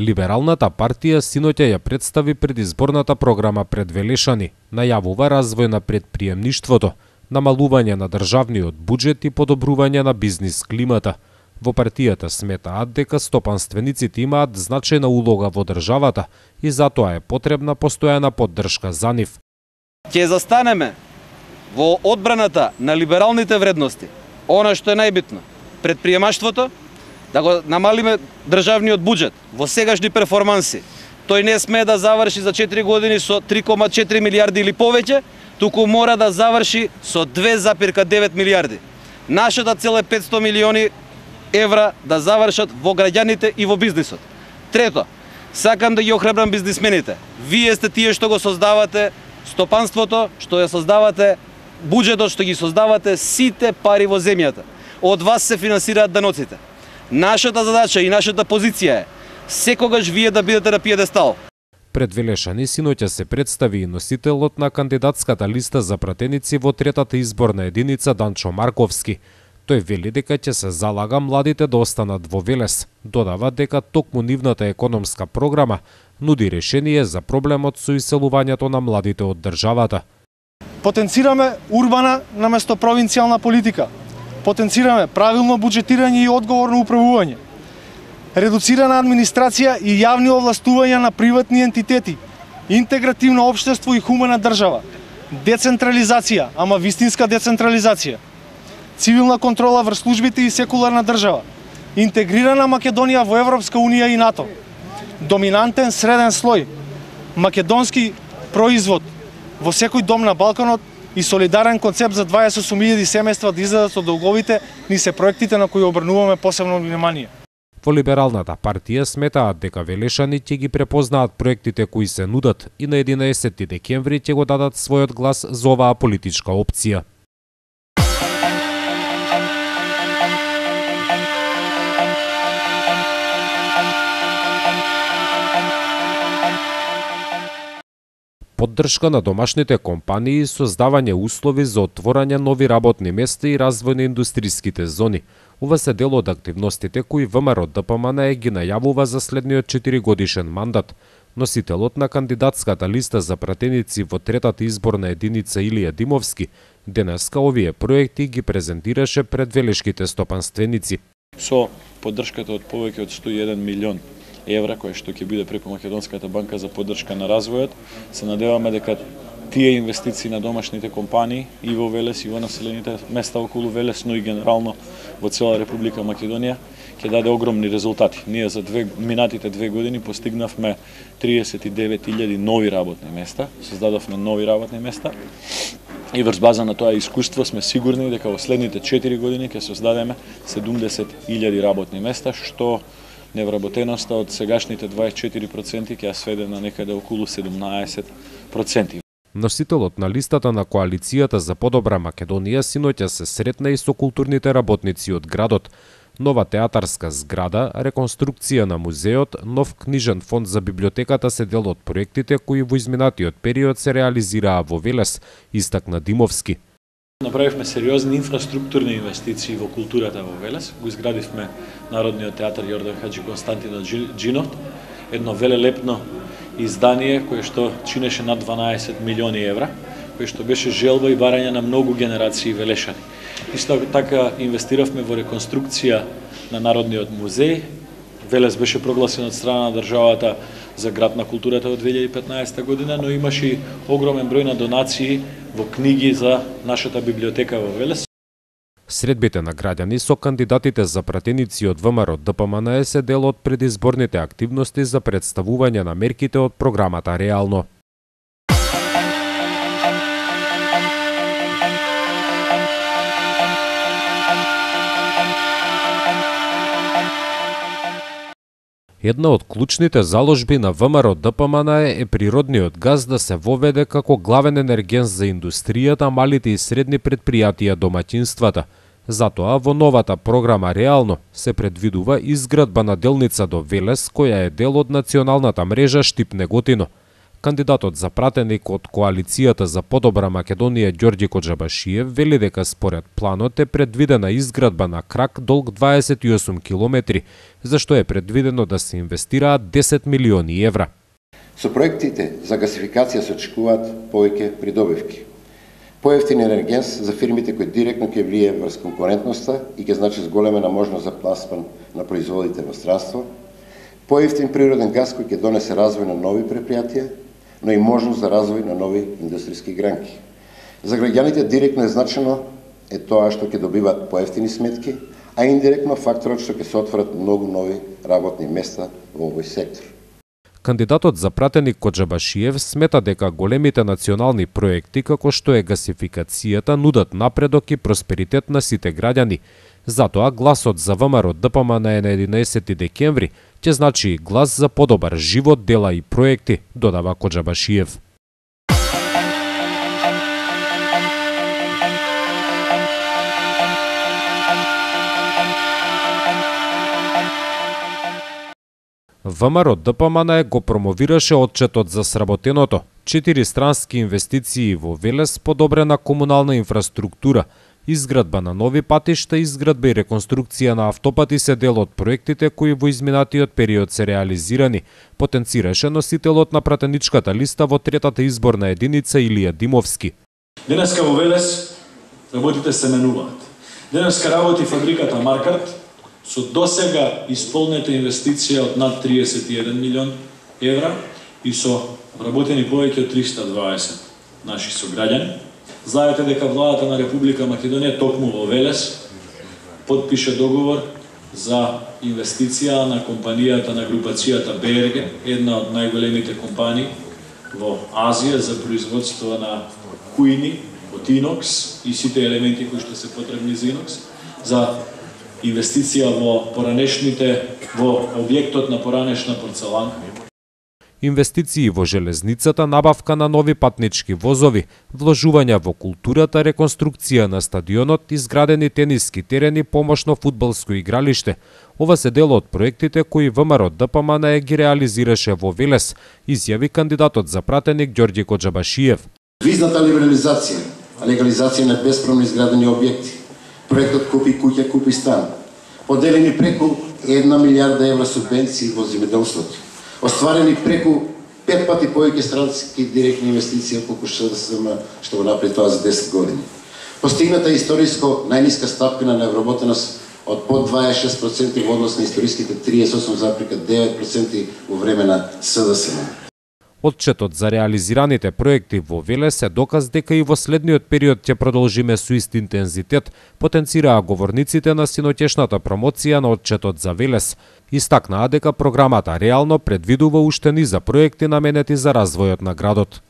Либералната партија синоќа ја представи предизборната програма пред Велешани, најавува развој на предприемништвото, намалување на државниот буџет и подобрување на бизнис климата. Во партијата сметаат дека стопанствениците имаат значајна улога во државата и затоа е потребна постојана поддршка за нив. Ќе застанеме во одбраната на либералните вредности. Она што е најбитно, предприемаштвото, да го намалиме државниот буџет во сегашни перформанси. Тој не смее да заврши за 4 години со 3,4 милиарди или повеќе, туку мора да заврши со 2,9 милиарди. Нашата цел е 500 милиони евра да завршат во граѓаните и во бизнисот. Трето, сакам да ги охрабрам бизнисмените. Вие сте тие што го создавате стопанството, што ја создавате буџетот, што ги создавате сите пари во земјата. Од вас се финансираат даноците. Нашата задача и нашата позиција е секогаш вие да бидете на пиедестал. Пред Велешани синоќа се представи и носителот на кандидатската листа за пратеници во третата изборна единица Данчо Марковски. Тој вели дека ќе се залага младите да останат во Велес. Додава дека токму нивната економска програма нуди решение за проблемот со иселувањето на младите од државата. Потенцираме урбана наместо провинцијална политика. Потенцираме правилно буџетирање и одговорно управување. Редуцирана администрација и јавни овластувања на приватни ентитети. Интегративно општество и хумана држава. Децентрализација, ама вистинска децентрализација. Цивилна контрола врз службите и секуларна држава. Интегрирана Македонија во Европска унија и НАТО. Доминантен среден слој. Македонски производ во секој дом на Балканот и солидарен концепт за 28.000 семејства да излезат од долговите ни се проектите на кои обрнуваме посебно внимание. Во Либералната партија сметаат дека Велешани ќе ги препознаат проектите кои се нудат и на 11 декември ќе го дадат својот глас за оваа политичка опција. Поддршка на домашните компании, создавање услови за отворање нови работни места и развој на индустриските зони. Ова се дел од активностите кои ВМРО ДПМН ги најавува за следниот 4-годишен мандат. Носителот на кандидатската листа за пратеници во третата изборна единица Илија Димовски денеска овие проекти ги презентираше пред велешките стопанственици. Со поддршката од повеќе од 101 милион евра, кој што ќе биде преку Македонската банка за поддршка на развојот, се надеваме дека тие инвестиции на домашните компании и во Велес и во населените места околу Велес, но и генерално во цела Република Македонија, ќе даде огромни резултати. Ние за минатите 2 години постигнавме 39.000 нови работни места, создадовме нови работни места и врз база на тоа искуство сме сигурни дека во следните 4 години ќе создадеме 70.000 работни места, што невработеноста од сегашните 24% ќе ја сведе на некаде околу 17%. Носителот на листата на Коалицијата за подобра Македонија синоќа се сретна и со културните работници од градот. Нова театарска зграда, реконструкција на музеот, нов книжен фонд за библиотеката се дел од проектите кои во изминатиот период се реализираа во Велес, истакна Димовски. Направивме сериозни инфраструктурни инвестиции во културата во Велес. Го изградивме Народниот театар Јордан Хаџи Константино Џинов, едно велелепно издание кое што чинеше над 12 милиони евра, кое што беше желба и барање на многу генерации велешани. Исто така инвестиравме во реконструкција на Народниот музеј. Велес беше прогласен од страна на државата за град на културата од 2015 година, но имаше и огромен број на донации во книги за нашата библиотека во Велес. Средбите на граѓани со кандидатите за пратеници од ВМРО ДПМН се дел од предизборните активности за представување на мерките од програмата Реално. Една од клучните заложби на ВМРО ДПМН е природниот газ да се воведе како главен енерген за индустријата, малите и средни предпријатија, домаќинствата. Затоа во новата програма Реално се предвидува изградба на делница до Велес, која е дел од националната мрежа Штип-Неготино. Кандидатот за пратеник од Коалицијата за подобра Македонија Ѓорѓи Коџабашиев вели дека според планот е предвидена изградба на крак долг 28 километри, за што е предвидено да се инвестираат 10 милиони евра. Со проектите за гасификација се очекуваат повеќе придобивки. Поевтин енергенс за фирмите кои директно ќе влие врз конкурентноста и ќе значи зголемена можност за пласман на производите во странство. Поевтин природен газ кој ќе донесе развој на нови предпријатија, но и можност за развој на нови индустријски гранки. За граѓаните директно е значено е тоа што ќе добиваат поевтини сметки, а индиректно факторот што ќе се отворат многу нови работни места во овој сектор. Кандидатот за пратеник Коџабашиев смета дека големите национални проекти како што е гасификацијата нудат напредок и просперитет на сите граѓани. Затоа гласот за ВМРО ДПМН на 11 декември ќе значи глас за подобар живот, дела и проекти, додава Коџабашиев. ВМРО ДПМН го промовираше отчетот за сработеното, 4 странски инвестиции во Велес, подобрена комунална инфраструктура, изградба на нови патишта, изградба и реконструкција на автопати се дел од проектите кои во изминатиот период се реализирани, потенцираше носителот на пратеничката листа во третата изборна единица Илија Димовски. Денеска во Велес работите се менуваат. Денеска работи фабриката Маркарт со досега исполнета инвестиција од над 31 милион евра и со вработени повеќе од 320 наши сограѓани. Знаете дека владата на Република Македонија токму во Велес подпише договор за инвестиција на компанијата на групацијата БРГ, една од најголемите компании во Азија за производство на кујни од инокс и сите елементи кои што се потребни за инокс, за инвестиција во објектот на поранешна порцелана. Инвестиции во железницата, набавка на нови патнички возови, вложувања во културата, реконструкција на стадионот, изградени тениски терени, помошно фудбалско игралиште. Ова се дел од проектите кои ВМРО ДПМН ги реализираше во Велес, изјави кандидатот за пратеник Ѓорѓи Коџабашиев. Визната либерализација, легализација на бесправно изградени објекти, проектот Купи куќа, купи стан, поделени преку 1 милијарда евра субвенции во земјоделството, остварени преку 5 пати повеќе странски директни инвестиции колку СДСМ што го направи тоа за 10 години. Постигната историско најниска стапка на невработеност од под 26% во однос на историските 38,9% во време на СДСМ. Отчетот за реализираните проекти во Велес е доказ дека и во следниот период ќе продолжиме со ист интензитет, потенцираа говорниците на синоќешната промоција на отчетот за Велес. Истакнаа дека програмата реално предвидува уште низа проекти наменети за развојот на градот.